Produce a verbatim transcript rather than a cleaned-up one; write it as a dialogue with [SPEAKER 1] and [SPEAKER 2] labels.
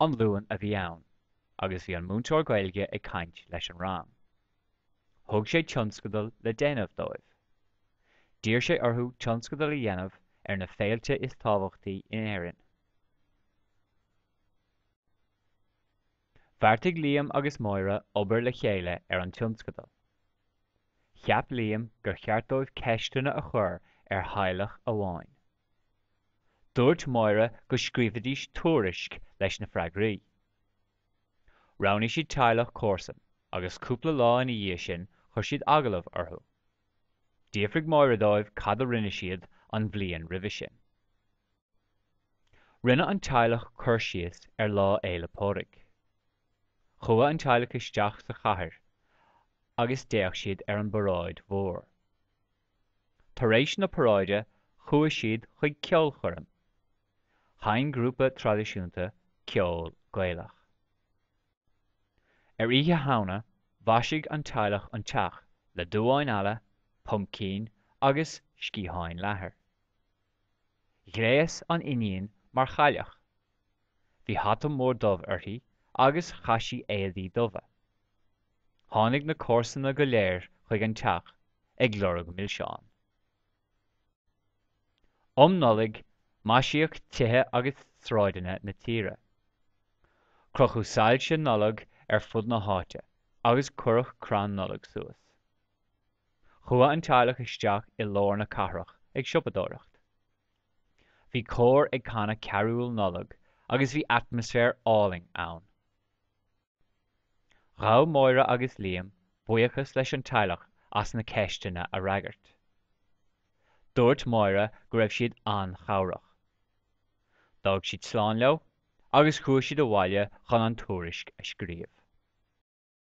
[SPEAKER 1] An Luan a bhí ann agus bhí an múinteoir Gaeilge ag caint leis an rang. Thug sé tionscadal le déanamh dóibh. D'iarr sé orthu tionscadal a dhéanamh ar na féilte is tábhachtaí in Éirinn. Bheartaigh Liam agus Máire obair le chéile ar an tionscadal. Cheap Liam gur cheart dóibh ceisteanna a chur ar theaghlach amháin. Dúirt Máire go scríobfaidís tuairisc leis na freagraí. Roghnaigh siad teaghlach comharsan agus cúpla lá ina dhiaidh sin chuir siad agallamh orthu. D'fhiafraigh Máire dóibh cad a rinne siad an bhliain roimhe sin. Rinne an teaghlach cur síos ar Lá Fhéile Pádraig. Chuaigh an teaghlach isteach sa chathair agus d'fhéach siad ar an bparáid mhór. Tar éis na paráide chuaigh siad chuig ceolchoirm. Sheinn grúpa traidisiúnta ceol Gaelach. Ar Oíche Shamhna, mhaisigh an teaghlach an teach le duáin eala, pumpcín agus sciatháin leathair. Ghléas an iníon mar chailleach. Bhí hata mór dubh uirthi agus chaith sí éadaí dubha. Tháinig na comharsana go léir chuig an teach ag lorg milseán. Um Nollaig, maisíodh tithe agus sráideanna na tíre. Crochadh soilse Nollag ar fud na háite agus cuireadh crann Nollag suas. Chuaigh an teaghlach isteach i lár na cathrach ag siopadóireacht. Bhí cór ag canadh cearúil Nollag agus bhí atmaisféar álainn ann. Ghabh Máire agus Liam buíochas leis an teaghlach as na ceisteanna a fhreagairt. Dúirt Máire go raibh siad an-chabhrach. D'fhág siad slán leo agus chuaigh siad abhaile chun an tuairisc a scríobh.